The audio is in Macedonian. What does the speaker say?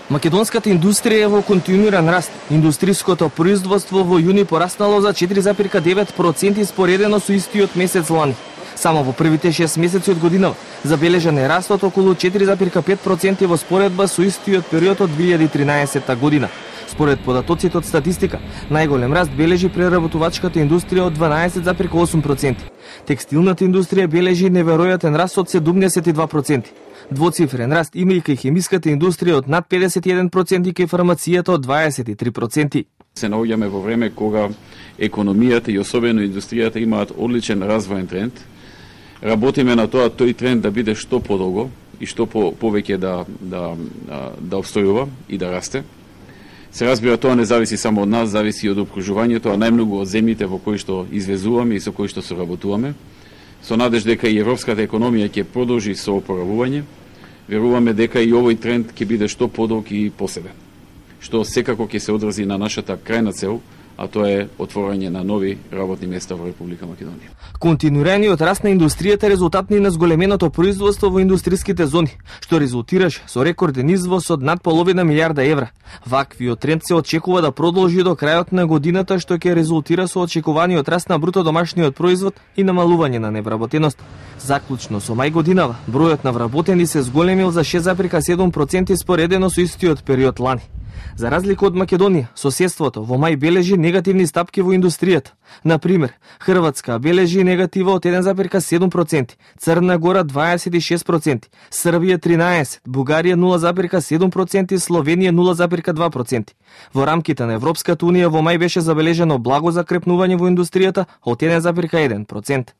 Македонската индустрија е во континуиран раст. Индустриското производство во јуни пораснало за 4,9% споредено со истиот месец лани. Само во првите 6 месеци од годинава забележан е раст од околу 4,5% во споредба со истиот период од 2013 година. Според податоците од статистика, најголем раст бележи преработувачката индустрија од 12,8%. Текстилната индустрија бележи неверојатен раст од 72%. Двоцифрен раст имајќи хемиската индустрија од над 51% и кај фармацијата од 23%. Се наоѓаме во време кога економијата и особено индустријата имаат одличен развоен тренд. Работиме на тоа тој тренд да биде што подолго и што повеќе да обстојува и да расте. Се разбира, тоа не зависи само од нас, зависи и од опкружувањето, а најмногу од земјите во кои што извезуваме и со кои што соработуваме. Со надеж дека и европската економија ќе продолжи со опоравување, веруваме дека и овој тренд ќе биде што подолг и поседен, што секако ќе се одрази на нашата крајна цел, а тоа е отворање на нови работни места во Република Македонија. Континуираниот раст на индустријата е резултат на зголеменото производство во индустриските зони, што резултираше со рекорден извоз од над половина милиарда евра. Ваквиот тренд се очекува да продолжи до крајот на годината, што ќе резултира со очекуваниот раст на бруто домашниот производ и намалување на невработеност. Заклучно со мај годинава, бројот на вработени се зголемил за 6,7% споредено со истиот период лани. За разлика од Македонија, соседството во мај бележи негативни стапки во индустријата. Например, Хрватска бележи негатива од 1,7%, Црна Гора 26%, Србија 13%, Бугарија 0,7% и Словенија 0,2%. Во рамките на Европската унија во мај беше забележено благо закрепнување во индустријата од 1,1%.